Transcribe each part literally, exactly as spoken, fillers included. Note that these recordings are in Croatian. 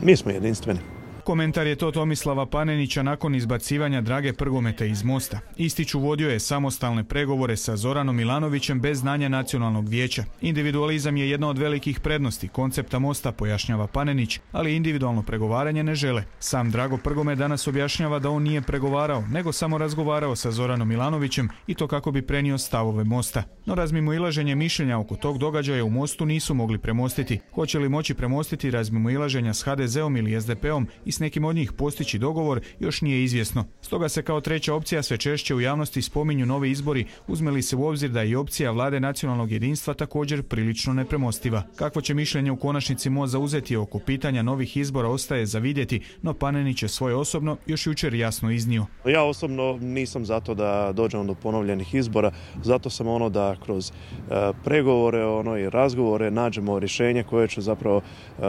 Mi smo jedinstveni. Komentar je to Tomislava Panenića nakon izbacivanja Drage Prgometa iz Mosta. Ističu vodio je samostalne pregovore sa Zoranom Milanovićem bez znanja nacionalnog vijeća. Individualizam je jedna od velikih prednosti koncepta Mosta, pojašnjava Panenić, ali individualno pregovaranje ne žele. Sam Drago Prgomet danas objašnjava da on nije pregovarao, nego samo razgovarao sa Zoranom Milanovićem i to kako bi prenio stavove Mosta. No razmimoilaženje mišljenja oko tog događaja u Mostu nisu mogli premostiti. Hoće li moći premostiti razmimoilaženja s ha de zeom ili es de peom i s nekim od njih postići dogovor još nije izvjesno. Stoga se kao treća opcija sve češće u javnosti spominju novi izbori, uzme li se u obzir da je i opcija vlade nacionalnog jedinstva također prilično nepremostiva. Kakvo će mišljenje u konačnici Most zauzeti oko pitanja novih izbora ostaje za vidjeti, no Panenić je svoje osobno još jučer jasno iznio. Ja osobno nisam zato da dođemo do ponovljenih izbora, zato sam ono da kroz uh, pregovore ono, i razgovore nađemo rješenje koje će zapravo uh,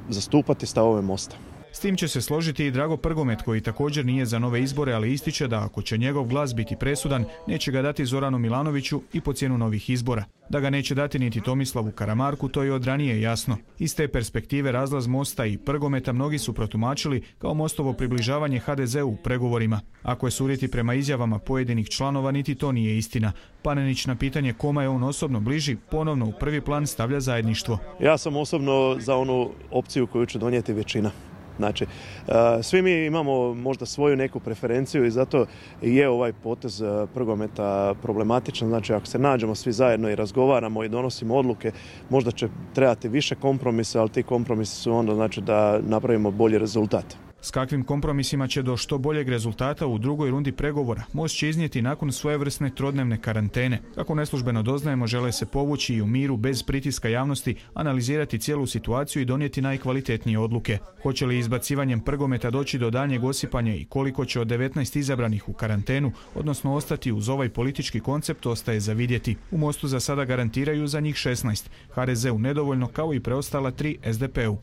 zastupati stavove Mosta. S tim će se složiti i Drago Prgomet koji također nije za nove izbore, ali ističe da ako će njegov glas biti presudan, neće ga dati Zoranu Milanoviću i po cijenu novih izbora. Da ga neće dati niti Tomislavu Karamarku, to je od ranije jasno. Iz te perspektive razlaz Mosta i Prgometa mnogi su protumačili kao Mostovo približavanje ha de zeu u pregovorima. Ako je suditi prema izjavama pojedinih članova, niti to nije istina. Panenić na pitanje koma je on osobno bliži, ponovno u prvi plan stavlja zajedništvo. Ja sam osobno za onu opciju koju će donijeti većina. Znači, svi mi imamo možda svoju neku preferenciju i zato je ovaj potez Prgometa problematičan. Znači, ako se nađemo svi zajedno i razgovaramo i donosimo odluke, možda će trebati više kompromisa, ali ti kompromisi su onda znači da napravimo bolji rezultat. S kakvim kompromisima će do što boljeg rezultata u drugoj rundi pregovora Most će iznijeti nakon svojevrsne trodnevne karantene. Kako neslužbeno doznajemo, žele se povući i u miru bez pritiska javnosti, analizirati cijelu situaciju i donijeti najkvalitetnije odluke. Hoće li izbacivanjem Prgometa doći do daljnjeg osipanja i koliko će od devetnaest izabranih u karantenu, odnosno ostati uz ovaj politički koncept, ostaje za vidjeti. U Mostu za sada garantiraju za njih šesnaest, ha de zeu nedovoljno kao i preostala tri es de peu.